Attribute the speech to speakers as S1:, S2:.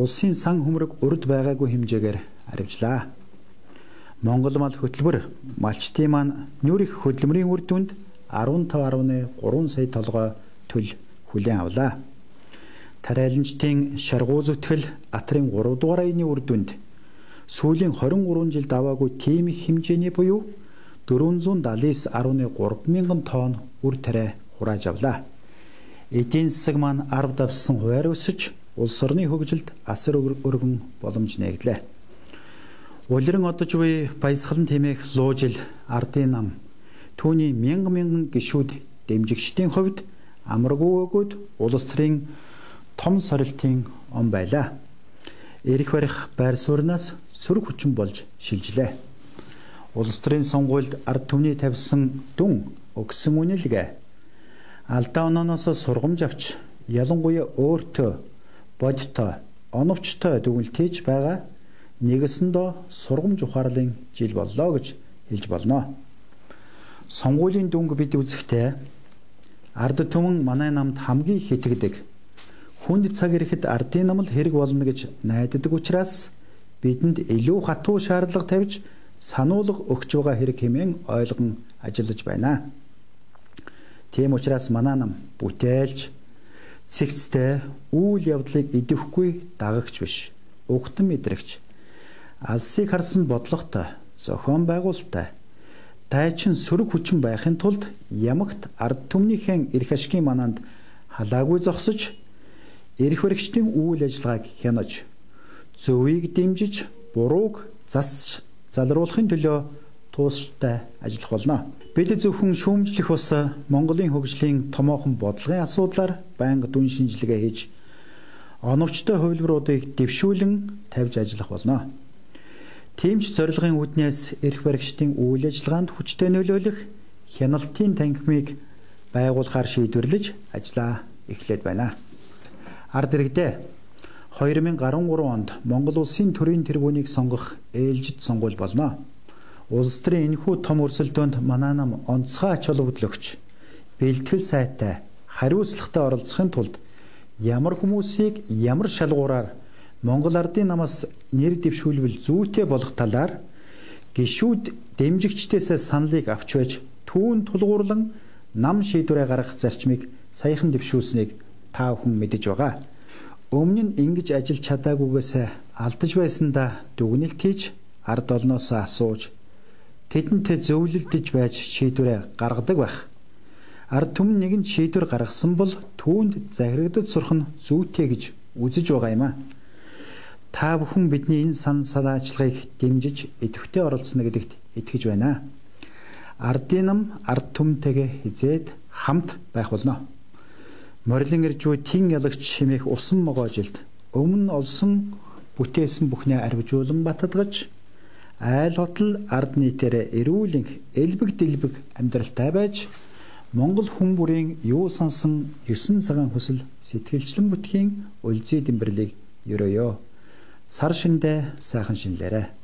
S1: улсын сан хөмрөг урд байгаагүй хэмжээгээр арвижлаа. Монгол мал хөтөлбөр малчтын маань нүүр их хөдөлмөрийн үр дүнд 15.3 сая толгой төл хүлээн авлаа. Тариаланчдын шаргуу зүтгэл Атрын 3 дугаар аяны үр дүнд сүүлийн 23 жилд аваагүй тийм их хэмжээний буюу 479.3 мянган тонн үр тариа хурааж авлаа. Эдийн засаг маань 10 давсан хувиар өсөж улс орны хөгжилд асар өргөн боломж нэгдлээ. Улиран одож буй баясгалан тэмээх луужил ардын нам түүний мянган гишүүд дэмжигчдийн хувьд амаргүй өгөөд улс төрийн том сорилтын он байлаа. Ирэх барих байр сууриас сөрөг хүчин болж шилжлээ. Улс төрийн сонгуульд ард түмний тавьсан дүн өгсөн үнэлгээ алдаа онооноос сургамж авч ялангуяа өөртөө бодтой оновчтой дүгнэлтэж байгаа нэгэсэндөө сургамж ухаарлын жил боллоо гэж хэлж болно. Сонгуулийн дүнг бид үзэхдээ ард түмэн манай намд хамгийн их итгэдэг. Хүнд цаг ирэхэд ардын нам л хэрэг болно гэж найддаг учраас бидэнд илүү хатуу шаардлага тавьж сануулга өгч байгаа хэрэг хэмээн ойлгон ажиллаж байна. Тийм учраас манай нам бүтээлч, цэгцтэй үйл явдлыг идэвхгүй дагагч биш, угтан мэдрэгч, алсыг харсан бодлоготой, зохион байгуулалттай, дайчин сөрөг хүчин байхын тулд ямагт ард түмнийхэн эрх ашигын манаанд халаагүй зогсож, эрх баригчдын үйл ажиллагааг хянаж, зөвийг дэмжиж, бурууг зас залруулахын төлөө туустай ажиллах болно. Бид зөвхөн шүүмжлэх ус Монголын хөгжлийн томоохон бодлогын асуудлаар байнга дүн шинжилгээ хийж, оновчтой хувилбаруудыг дэвшүүлэн тавьж ажиллах болно. Тиймч зорилгын үүднээс эрх баригчдын үйл ажиллагаанд хүчтэй нөлөөлөх хяналтын танхимыг байгуулахаар шийдвэрлэж ажиллаа эхлээд байна. Ард иргэдээ 2013 онд Монгол улсын төрийн тэргүүнийг сонгох ээлжид сонгуул болно. Улс төрийн энэхүү том өрсөлдөөнд манай нам онцгой ач холбогдол өгч, бэлтгэл сайтай, хариуцлагатай оролцохын тулд ямар хүмүүсийг ямар шалгуураар Монгол ардын намаас нэр дэвшүүлбэл зүйтэй болох талаар гишүүд дэмжигчдээс саналыг авч байж түүн тулгуурлан нам шийдвэрээ гаргах зарчмыг саяхан дэвшүүлсэнийг та бүхэн мэдэж байгаа. Өмнө нь ингэж ажиллаж чадаагүйгээс алдаж байсандаа дүгнэлт хийж ард олноос асууж тэдэнтэй зөвлөлдөж байж шийдвэрээ гаргадаг байх. Ард түмэн нэгэн шийдвэр гаргасан бол түүнд захирагдаж сурах нь зүйтэй гэж үзэж байгаа юм а. Та бүхэн бидний энэ санаачлагыг дэмжиж идэвхтэй оролцоно гэдэгт итгэж байна. Ардын нам ард түмэнтэйгээ хизээд хамт байх болно. Морилын ирж буй тин ялагч хэмээх усан могоожилд өмнө олсон бүтээсэн бүхнээ арвижуулан батадгаж айл хотол ард нийтээрээ эрүүлэнх элбэг дэлбэг амьдралтай байж Монгол хүн бүрийн юу сансан 9 цагаан хүсэл сэтгэлчлэн бүтхийн үлзий дэмбэрлийг ерөөё. Сар шиндээ сайхан шинлээрэ.